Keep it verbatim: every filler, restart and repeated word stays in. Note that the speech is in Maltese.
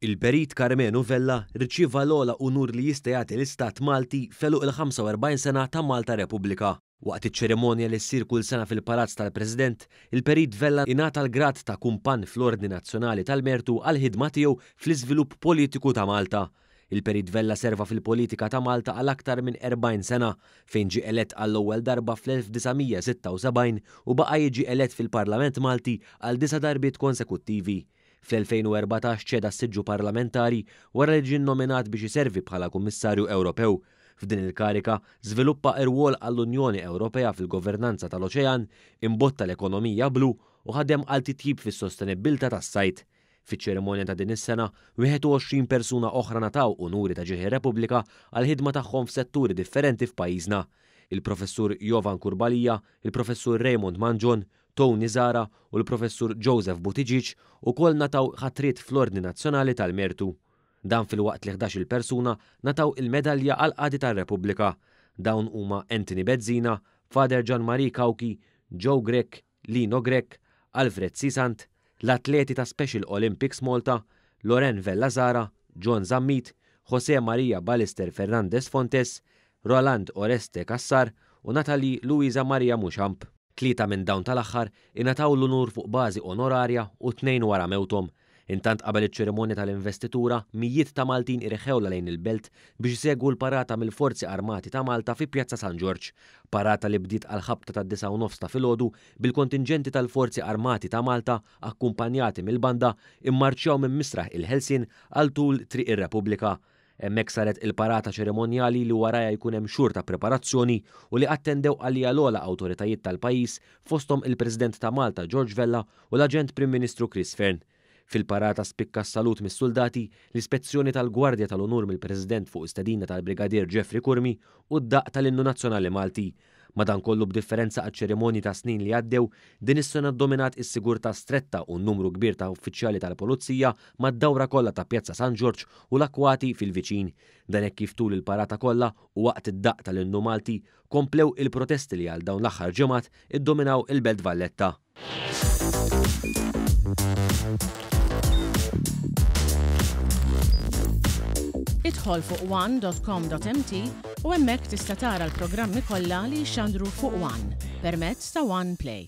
Il-Perit Karmenu Vella rċieva l-ogħla unur li jista' jagħti l-Istat Malti f'għeluq il-ħamsa u erbgħin sena ta' Malta Repubblika. Waqt iċ-ċerimonja li ssir kull sena fil-Palazz tal-President, il-Perit Vella ingħata l-grad ta' Kumpann fl-Ordni Nazzjonali tal-Mertu għall-ħidma tiegħu fl-iżvilupp politiku ta' Malta. Il-Perit Vella serva fil-politika ta' Malta għal aktar minn erbgħin sena, fejn ġie elett għall-ewwel darba fl-elf disa' mija sitta u sebgħin u baqa' jiġi elett fil-Parlament Malti għal disa' darbiet konsekuttivi. Fl-elfejn u erbatax ċeda s-siġġu parlamentari wara li ġie nnominat biex iservi bħala Kummissarju Ewropew. F'din il-karika żviluppa rwol għall-Unjoni Ewropea fil-governanza tal-oċean, imbotta l-ekonomija blu u ħadem għal titjib fis-sostenibbiltà tas-sajd. Fiċ-ċerimonja ta' din is-sena, wieħed u għoxrin persuna oħra ngħataw unuri ta' ġieħ ir-Repubblika għall-ħidma tagħhom f'setturi differenti f'pajjiżna. Il-Professur Jovan Kurbalija, il-Professur Raymond Mangion, Tony Zara u l-Professur Joseph Buttigieg ukoll ngħataw ħatriet fl-Ordni Nazzjonali tal-Mertu. Dan filwaqt li ħdax-il persuna ngħataw il-medalja għall-qadi tar-Repubblika. Dawn huma Anthony Bezzina, Father Gian Marie Cauchi, Joe Grech, Lino Grech, Alfred Sisant, l-atleti ta' Special Olympics Malta, Loren Vella Zara, John Zammit, Jose Maria Ballester Fernandez Fontes, Roland Oreste Cassar u Natalie Luisa Maria Muxamp. Tlieta minn dawn tal-aħħar ingħataw l-unur fuq bażi onorarja u tnejn wara mewthom. Intant qabel iċ-ċerimonja tal-investitura, mijiet ta' Maltin irħewla lejn il-belt biex isegwu l-parata mill-Forzi Armati ta' Malta fi Pjazza San Ġorġ. Parata li bdiet għal ħabta tad-disgħa u nofs ta' filgħodu bil-kontinġenti tal-Forzi Armati ta' Malta akkumpanjati mill-banda immarċjaw minn Misraħ il-Ħelsien għal tul Triq ir-Repubblika. Hemmhekk saret il-parata ċerimonjali li warajha jkun hemm xhur ta' preparazzjoni u li attendew għalija l-ogħla awtoritajiet tal-pajjiż fosthom il-President ta' Malta George Vella u l-Aġent Prim Ministru Chris Fearne. Fil-parata spikka s-salut mis-soldati, l-ispezzjoni tal-Gwardja tal-Unur mill-President fuq istedina tal-Brigadier Jeffrey Curmi u d-daq tal-Innu Nazzjonali Malti. Madankollu b'differenza għaċ-ċerimonji ta' snin li għaddew, din is-sena ddominat is-sigurtà stretta u n-numru kbir ta' uffiċjali tal-Pulizija mad-dawra kollha ta' Pjazza San Ġorġ u l-akkwati fil-viċin. Dan hekk kif tul il-parata kollha u waqt id-daq tal-Innu Malti komplew il-protesti li għal dawn l-aħħar ġimgħat iddominaw il-Belt Valletta. Idħol fuq one dot com dot m t u hemmhekk tista' tara l-programmi kollha li jxandru fuq One permezz ta' One Play.